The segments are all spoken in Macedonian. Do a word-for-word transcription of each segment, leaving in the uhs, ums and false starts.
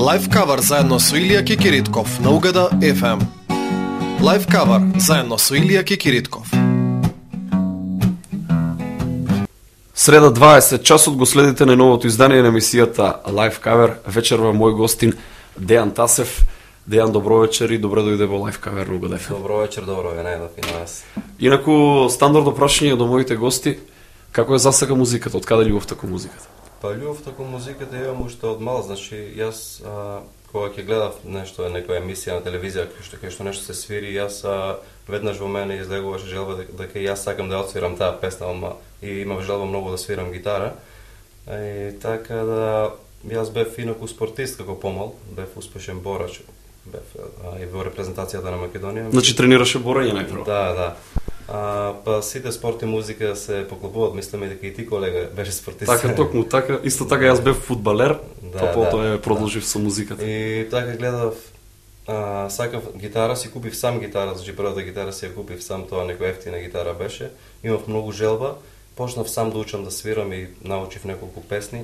Лайф кавер заедно со Илија Кикиритков на Угада еф ем. Лайф кавер заедно со Илија Кикиритков. Среда дваесет часот го следите на новото издание на емисијата Лайф кавер. Вечерва мој гостин Дејан Тасев. Дејан, добро вечер и добре дојде во Лайф кавер на Угада еф ем. Добро вечер, добро ве најдов и на вас. Инаку стандардно прашање до моите гости, како е засега музиката, од каде љубовта кон музиката? Па љубовта кон музиката имам уште од мал, значи јас а, кога ќе гледав нешто, некоја емисија на телевизија кај што, кај што нешто се свири, јас а, веднаш во мене излегуваше желба дека, дека јас сакам да отсвирам таа песна, ама и имав желба многу да свирам гитара. И така да јас бев инаку спортист како помал, бев успешен борач, бев а, и во репрезентацијата на Македонија. Значи тренираше борење најпрво? Да, да. А, па сите спорт и музика се поклопуваат, мислиме дека и ти колега беше спортист. Така, токму така, исто така јас бев фудбалер, да, па потоа да, е продолжив да. со музиката. И така гледав, а, сакав гитара, си купив сам гитара, значи првата гитара си ја купив сам, тоа некоја ефтина гитара беше. Имав многу желба, почнав сам да учам да свирам и научив неколку песни.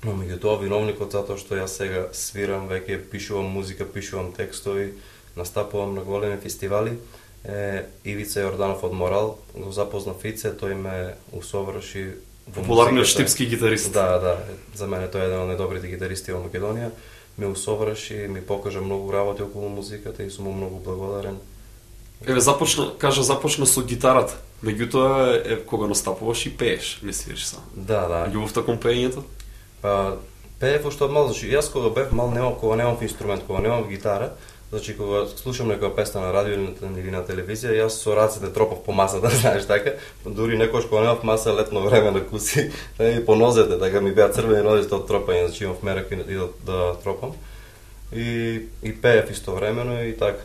Но меѓутоа виновникот затоа што јас сега свирам, веќе пишувам музика, пишувам текстови, настапувам на големи фестивали. Е, Ивица Јорданов од Морал, го запознав Ице, тој ме усоврши во популарниот штипски гитарист. Да, да, за мене тој е еден од најдобрите гитаристи во Македонија. Ме усоврши, ми покажа многу работи околу музиката и сум му многу благодарен. Еве започна, кажа започна со гитарата. Меѓутоа е кога настапуваш и пееш, не свириш сам. Да, да. Љубовта кон пеењето? Па пеев уште од мал, значи јас кога бев мал немав, кога немав инструмент, кога немав гитара, значи кога слушам некоја песна на радио или на телевизија, јас со рацете тропав по масата, знаеш така, дури некош кога немав маса летно време на куси, и по нозете, така ми беа црвени нозите од тропање, значи имав мерак и да, да тропам. И и пеев истовремено и така.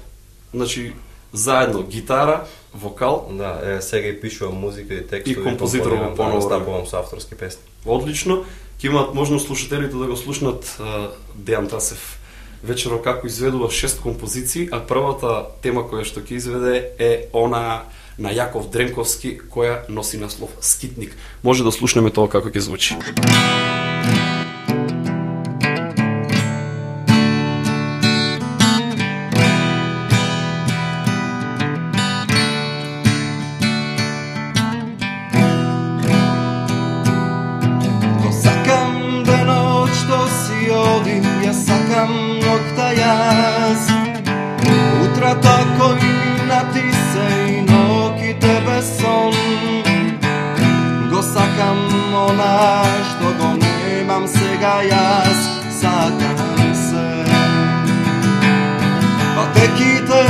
Значи заедно гитара, вокал, да, е, сега и пишувам музика и текстови, и композитор во поново настапувам со авторски песни. Одлично. Ќе имаат можност слушателите да го слушнат Дејан Тасев вечерва како изведува шест композиции, а првата тема која што ќе изведе е она на Јаков Дренковски, која носи наслов Скитник. Може да слушнеме тоа како ќе звучи. Tako i minati se i nokite bez son. Go sakam ona što go nemam сега јас, sakam se. Pa tekite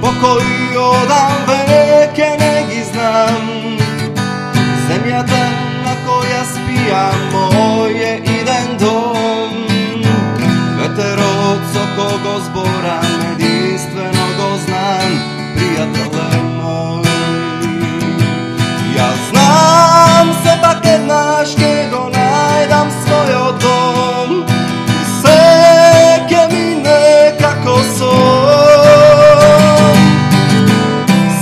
po koji odam veke ne gi znam. Zemljata na koja spijam moje idem dom. Veteroco kogo zboram jedinstveno go znam, prijatelje moj. Ja znam se pa kad naš kego najdam svoj dom. Seke mi nekako son.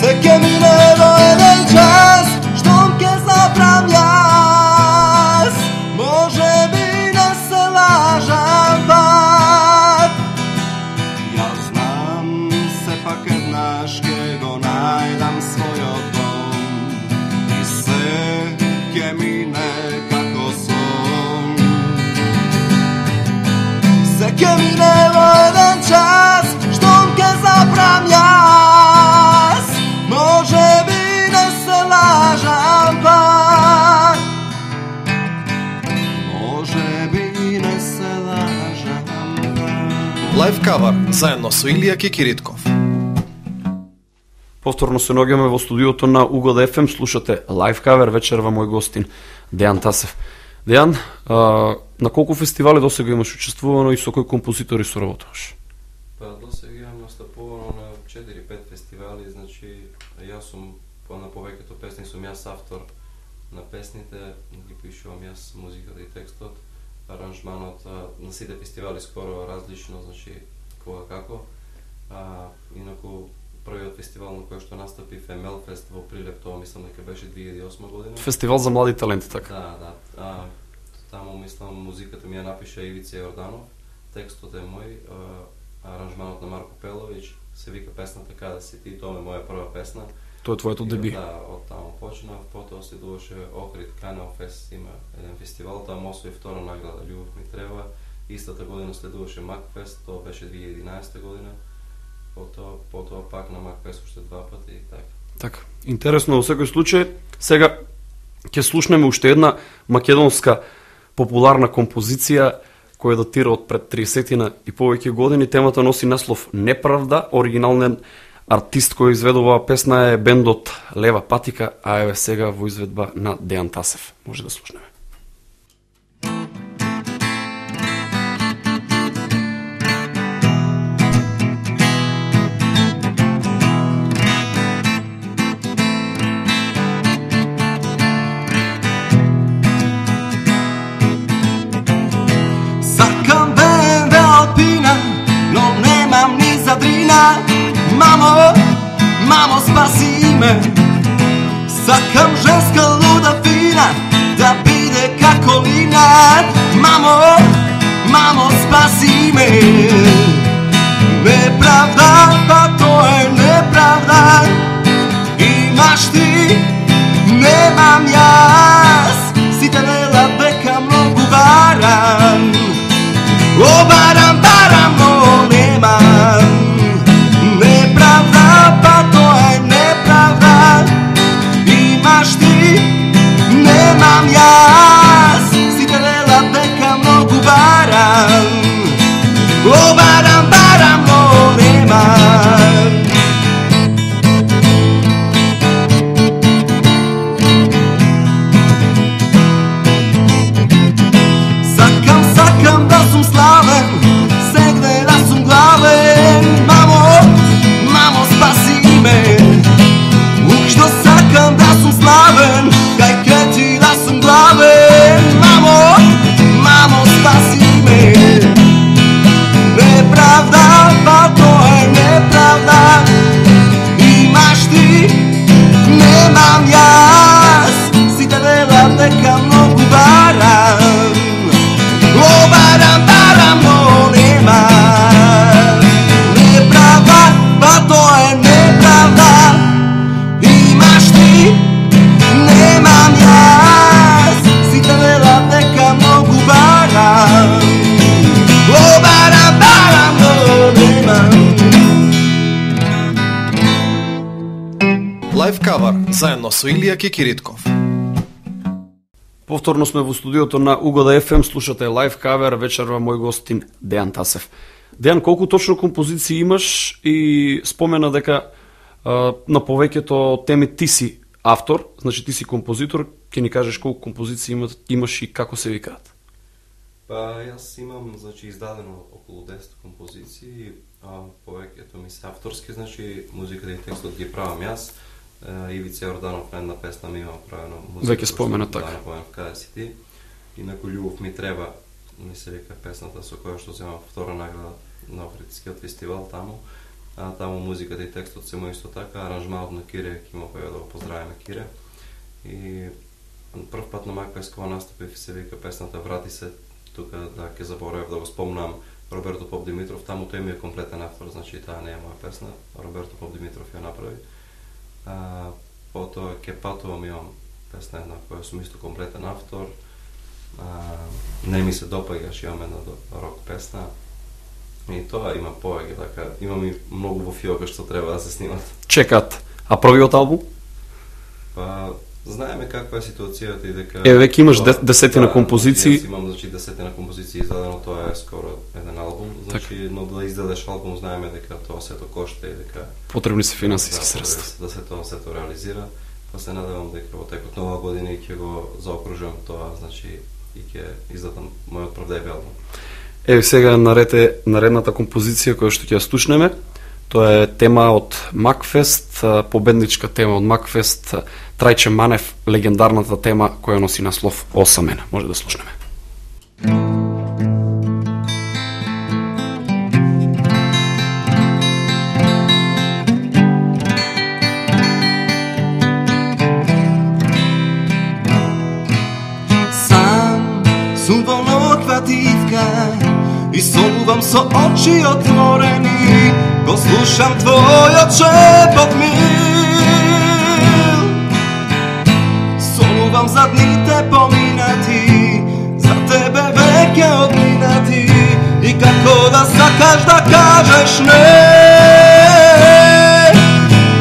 Seke mi nebo jeden čas, štom ke zabram jas. Može bi ne se lažam pa. Najdam svoj dom i seke mi nekako son. Seke mi nebo jeden čas, štom ke zabram jas. Može bi ne se lažam pa. Može bi ne se lažam pa. Лайф кавер заедно со Илија Кикиритков. Повторно се наоѓаме во студиото на Угада еф ем, слушате Лайф кавер, вечерва мој гостин Дејан Тасев. Дејан, а, на колку фестивали досега имаш учествувано и со кои композитори соработуваш? Па досега имам настапувано на четири-пет фестивали, значи јас сум на повеќето песни сум јас автор на песните, ги пишувам јас музиката и текстот, аранжманот на сите фестивали скоро различно, значи кога како. А, инаку првиот фестивал на кој што настапи Фемелфест во Прилеп, тоа мислам дека беше две илјади и осма година. Фестивал за млади таленти, така? Да, да. А, таму мислам музиката ми ја напиша Ивица Јорданов, текстот е мој, аранжманот на Марко Пелович, се вика песната Каде си ти, тоа е моја прва песна. Тоа е твоето деби. Да, од таму почнав, потоа следуваше Охрид Канал фест, има еден фестивал, таму освои втора награда Љубов ми треба. Истата година следуваше Макфест, тоа беше две илјади и единаесета година. Потоа, потоа пак на Макфест уште два пати и така. Така, интересно во секој случај. Сега ќе слушнеме уште една македонска популарна композиција која датира од пред тридесетина и повеќе години. Темата носи наслов Неправда. Оригинален артист кој изведува песна е бендот Лева патика, а еве сега во изведба на Дејан Тасев. Може да слушнеме. Мамо, мамо, спаси ме. Сакам женска луда фина да биде како лина. Мамо, мамо, спаси ме. Неправда, па тоа е неправда. Имаш ти, немам јас. Си те вела дека многу барам. О, барам, барам, но немам. Неправда, па тоа е неправда. Имаш ти, немам јас. Си те вела дека многу барам. О, барам, барам, но немам. Сакам, сакам да сум славен, сегде да сум главен. Мамо, мамо, спаси ме. Ушто сакам да сум славен, кај ке ти да сум главен. Мамо, мамо, спаси ме. Неправда, па тоа е неправда. Имаш ти, немам јас. Си те вела дека многу барам. О, барам, барам, но немам. Неправда, па тоа е неправда. Имаш ти, немам јас. Си те вела дека многу барам. О, барам, барам, но немам. Лайв кавар заедно со Илија Кикиритков. Повторно сме во студиото на Угода еф ем, слушате лайв кавер, вечерва мој гостин Дејан Тасев. Дејан, колку точно композиции имаш и спомена дека а, на повеќето теми ти си автор, значи ти си композитор, ќе ни кажеш колку композиции има, имаш и како се викаат? Па јас имам, значи, издадено околу десет композиции, а повеќето ми се авторски, значи музиката и текстот ги правам јас. Ивица Јорданов на една песна ми има правено музика. Веќе спомена така. Да, Каде си ти. Инаку Љубов ми треба, ми се вика песната со која што земам втора награда на Охридскиот фестивал таму. А таму музиката и текстот се мој исто така, аранжманот на Кире, ќе има поја да го поздравиме Кире. И прв пат на Макфест кога настапив се вика песната Врати се, тука да ќе заборавив да го спомнам Роберто Поп Димитров, таму тој ми е комплетен автор, значи таа не е моја песна, Роберто Поп Димитров ја направи. А, потоа Ке патувам имам песна една која сум исто комплетен автор. А, не ми се допаѓаш, имам една рок песна. И тоа има повеќе, така, имам и многу во фиока што треба да се снимат. Чекат. А првиот албум? Па, знаеме каква е ситуацијата и дека... Е, веќе имаш тоа, десетина да, композиции. Јас имам, значи, десетина композиции издадено, тоа е скоро еден албум. Значи, так. Но да издадеш албум, знаеме дека тоа сето кошта и дека... Потребни се финансиски да, средства. Да се тоа сето реализира. Па се надевам дека во текот нова година и ќе го заокружувам тоа, значи, и ќе издадам мојот прв деби албум. Еве сега нарете наредната композиција која што ќе ја слушнеме. Тоа е тема од Макфест, победничка тема од Макфест, Трајче Манев, легендарната тема која носи наслов Осамена. Може да слушнеме. Сам сум во ноква дивка, и сонувам со очи отворени, го слушам твојот шепот мил. Сонувам за дните поминати, за тебе веќе одминати, и како да сакаш да кажеш не.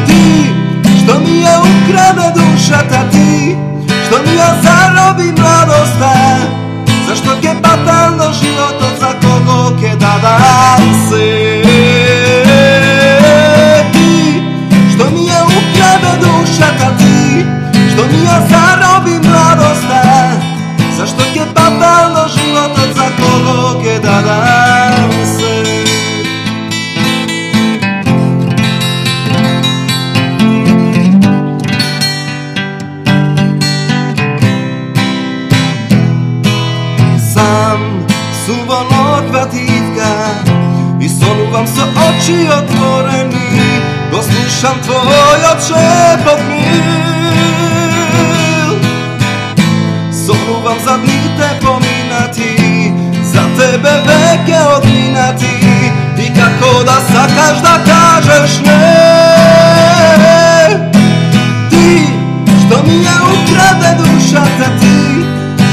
Ти, што ми ја украде душата, ти, што ми ја зароби младоста, зашто ќе патам до животот, за кого ќе дадам се. Ти, што ми ја украде душата, ти, што ми ја зароби младоста, зашто ќе патам до животот, за кого ќе дадам се. Сам сум во ноква тивка и сонувам со очи отворени, го слушам твојот шепот мил. Сонувам за дните поминати, за тебе веќе одминати, и како да сакаш да кажеш не. Ти, што ми ја украде душата, ти,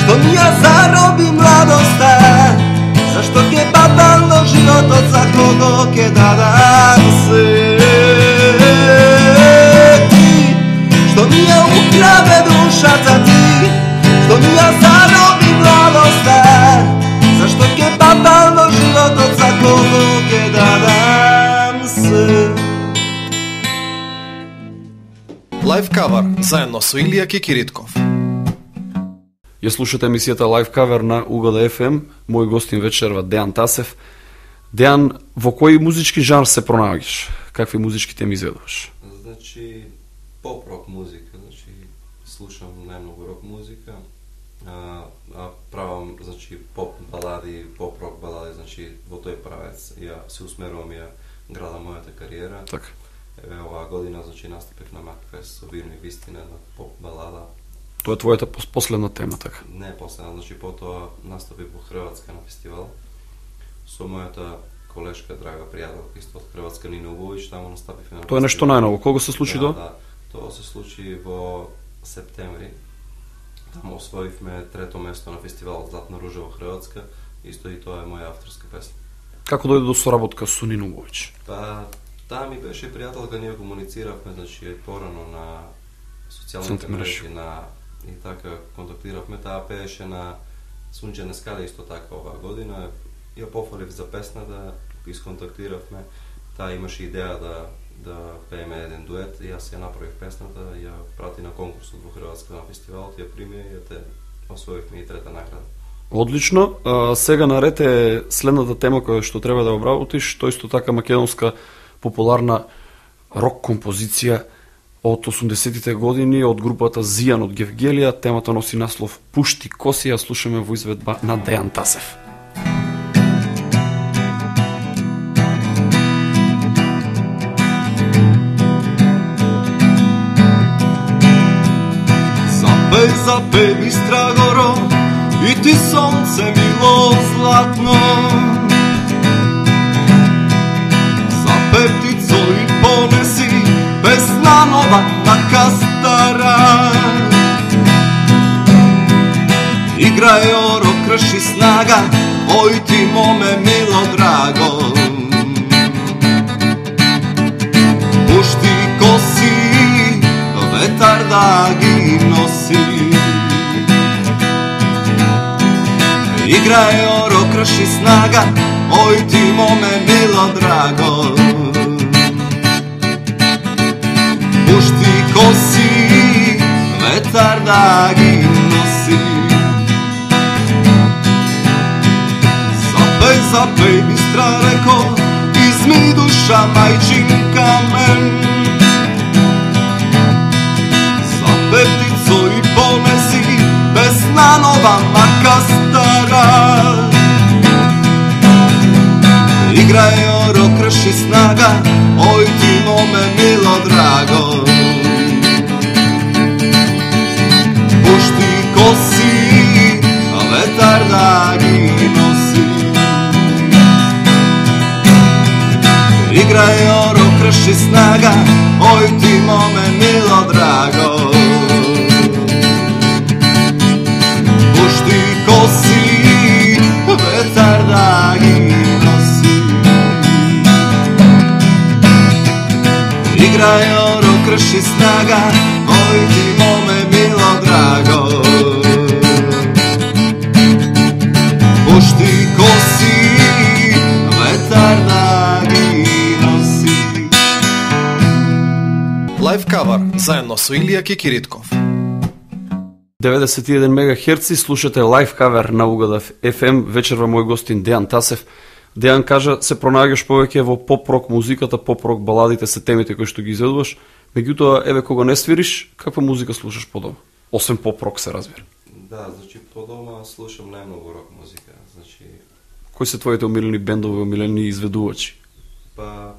што ми ја зароби младоста, зашто ќе патам до животот, за кого ќе дадам се. Ти, што ми ја украде душата, ти, што ми ја зароби младоста, зашто ќе патам до животот, за кого ќе дадам се. Лайв кавар заедно со Илија Кикиритков. Ја слушате емисијата Live Cover на Угода еф ем. Мој гостин вечерва Дејан Тасев. Дејан, во кој музички жанр се пронаоѓаш? Какви музички теми изведуваш? Значи, поп-рок музика, значи слушам најмногу рок музика, а, а правам, значи, поп балади, поп-рок балади, значи во тој правец ја се усмерувам, ја градам мојата кариера. Така. Еве оваа година, значи, настапив на Макфест со Вирни Вистина на поп балада. Тоа е твојата последна тема, така? Не последна, значи потоа настапив во Хрватска на фестивал со мојата колешка, драга пријателка исто од Хрватска, Нина Уговиќ, таму настапивме на фестивал. Тоа е нешто најново. Кога се случи да, тоа? Да, тоа се случи во септември. Таму освоивме трето место на фестивалот Златна ружа во Хрватска, исто и тоа е моја авторска песна. Како дојде до соработка со Нина Уговиќ? Па, таа ми беше пријателка, ние комунициравме, значи порано на социјалните мрежи, на и така контактиравме, таа пееше на Сунчене скале исто така оваа година. Ја пофалив за песна, да исконтактиравме. Таа имаше идеја да да пееме еден дует, и јас ја направив песната, ја прати на конкурсот во Хрватска на фестивалот, ја прими и ја те освоивме и трета награда. Одлично. А, сега наред е следната тема која што треба да обработиш, тоа исто така македонска популарна рок композиција од осумдесетите години од групата Зијан од Гевгелија. Темата носи наслов Пушти коси, ја слушаме во изведба на Дејан Тасев. Запеј, запеј, бистра горо, и ти сонце мило златно. Запеј, птицо, и понеси песна нова, така стара. Играј оро, крши снага, ој ти моме мило драго. Пушти коси, ветар да ги носи. Играј оро, крши снага, ој ти моме мило драго. Пушти коси, ветар да ги носи. Запеј, запеј, бистра реко, изми душа мајчинка мен. Запеј, птицо, и понеси песна нова, мака стара. Играј оро, крши снага, ој ти моме мило драго. Пушти коси, ветар да ги носи. Играј оро, крши снага, ој ти моме мило драго. Пушти коси, ветар да ги носи. Играј оро, крши снага, ој ти моме мило драго. Пушти коси, ветар да ги носи. Лайв кавар заедно со Илија Кикиритков. деветдесет и еден мегахерци, слушате лайв кавер на Угада еф ем. Вечерва мој гостин Дејан Тасев. Дејан, кажа, се пронаѓаш повеќе во поп-рок музиката, поп-рок баладите се темите кои што ги изведуваш. Меѓутоа, еве кога не свириш, каква музика слушаш по дома? Освен поп-рок се разбира. Да, значи по дома слушам најмногу рок музика. Значи Кои се твоите омилени бендови, омилени изведувачи? па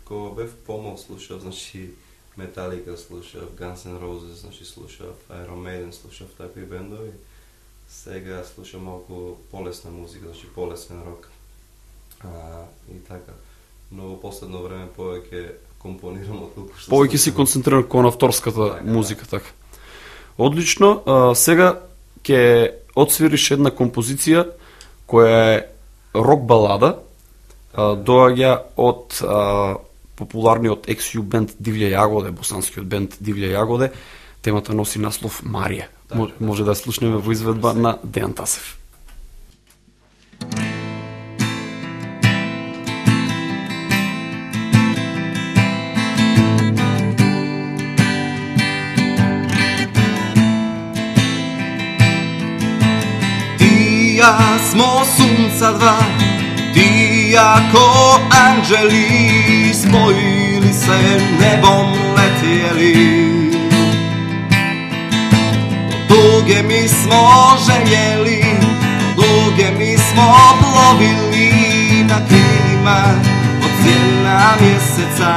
кога бев помал слушав, значи Металика слушав, Guns N' Roses, значи слушав, Iron Maiden слушав, такви бендови. Сега слушам малку полесна музика, значи полесен рок. А, и така. Но во последно време повеќе компонирам отколку што Повеќе си слушам. концентриран кон авторската Така, музика, така. Одлично. А, сега ќе отсвириш една композиција која е рок балада, а, доаѓа од а, популарниот екс-ю бенд Дивља Јагоде, босанскиот бенд Дивља Јагоде. Темата носи наслов Марија. Така, Мо- Може да ја слушнеме во изведба на Дејан Тасев. Тија смо сунца два, тија ко анđели, споили се небом летели. Duge mi smo željeli, duge mi smo plovili na krilima od sjena mjeseca.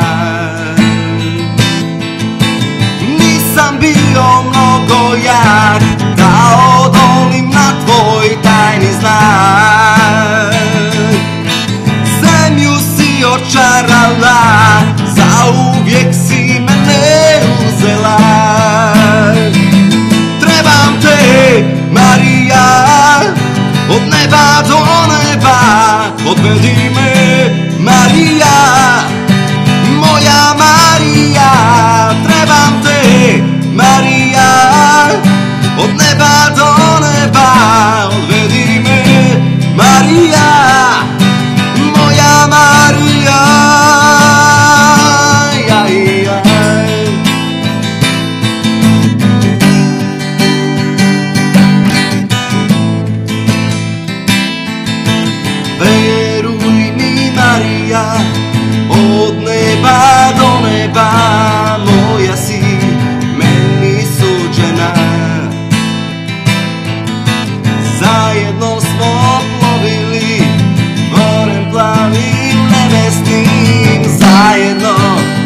Nisam bio mnogo jak da odolim na tvoj tajni znak. Zemlju si očarala, zauvijek si mene uzela. Trebam te, Marija, od neba do neba, odvedi me, Marija, moja Marija. Trebam te, Marija, od neba do neba, odvedi me, Marija, moja Marija. Jaj, jaj. Veruj mi, Marija, od neba do neba, moja si meni suđena. Zajedno smo plovili morem plavim nebesnim, zajedno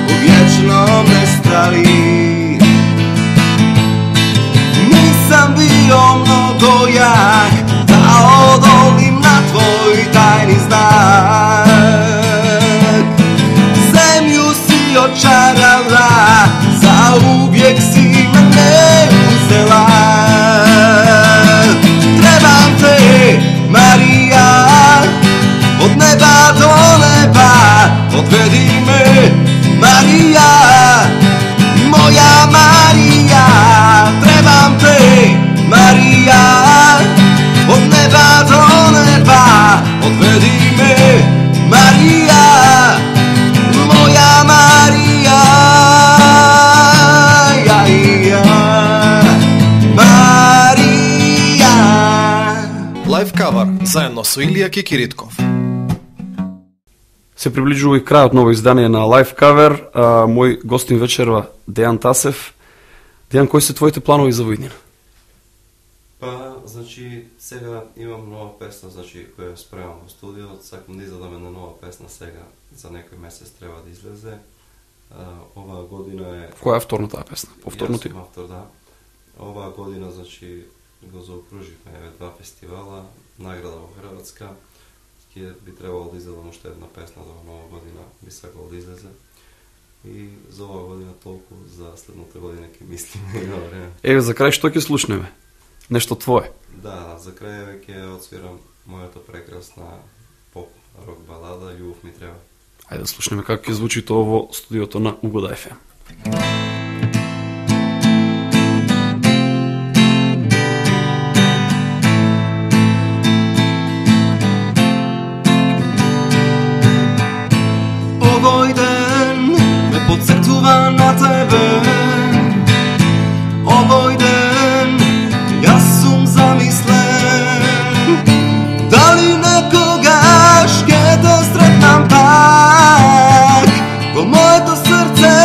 u vječnom nestali. Nisam bio mnogo jak da odolim na tvoj tajni znak. Zemlju si očarala, zauvijek si mene uzela. Trebam te, Marija, od neba do neba, odvedi me, Marija, moja Marija. Trebam te, Marija, od neba do neba, odvedi me, Marija, moja Marija. Jaj, jaj. Marija. Лайв кавар заедно со Илија Кикиритков. Се приближува и крајот ново издание на Лайв Кавер. А, мој гостин вечерва Дејан Тасев. Дејан, кои се твоите планови за војднина? Па, значи, сега имам нова песна, значи, која спремам во студио, сакам да изадам една нова песна сега, за некој месец треба да излезе. А, оваа година е... Која е авторна таа песна? Повторно ти? Јас сум автор, да. Оваа година, значи, го заокруживме еве два фестивала, награда во Хрватска, ќе ќе би требало да изедам уште една песна за нова година, би сакал да излезе. И за оваа година толку, за следната година ќе мислиме и на време. Еве, за крај што ќе слушнеме? Нешто твое? Да, за крај ќе отсвирам мојата прекрасна поп рок балада Љубов ми треба. Ајде да слушнеме како ќе звучи тоа во студиото на Угода еф ем. Овој ден ме подсетува на тебе. Овој ден јас сум замислен. Дали некогаш ќе те сретнам пак во моето срце,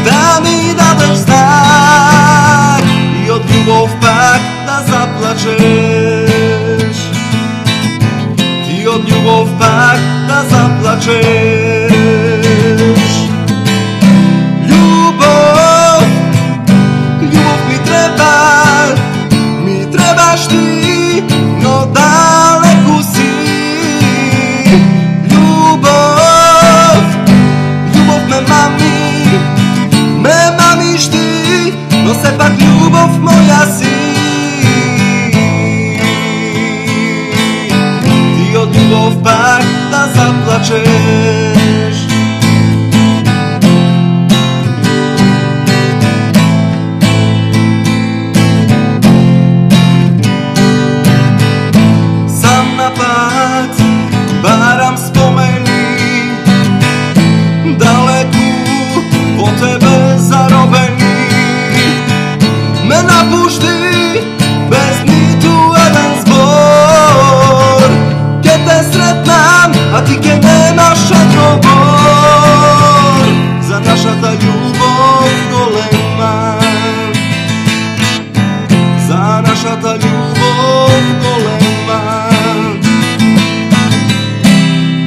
да ми дадеш знак и од љубов пак да заплачеш. И од љубов пак да заплачеш. Љубов, љубов ми треба, ми требаш ти, но далеку си. Љубов, љубов ме мами, ме мамиш ти, но сепак љубов моја си. Од љубов пак да заплачеш. Сам на пат барам спомени, далеку од тебе заробени. Ме напушти без ниту еден збор. Ке те сретнам, а ти ке немаш одговор за нашата љубов голема. За нашата љубов голема.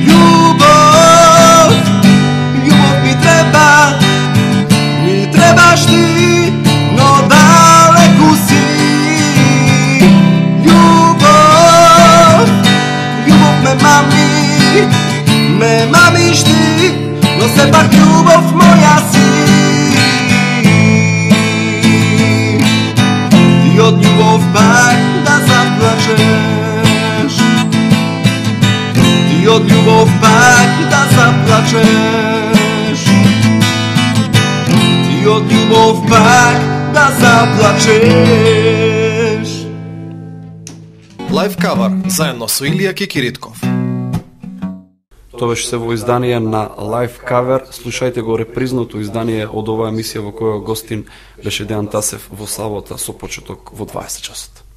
Љубов, љубов ми треба, ми требаш ти, но далеку си. Љубов, љубов ме мами, ме мамиш ти, но сепак љубов моја си. Ти од љубов пак да заплачеш. Ти од љубов пак да заплачеш. Ти од љубов пак да заплачеш. Лайв кавар заедно со Илија Кекиритков. Тоа беше се во издание на Live Cover. Слушајте го репризното издание од оваа емисија во која гостин беше Дејан Тасев во сабота со почеток во дваесет часот.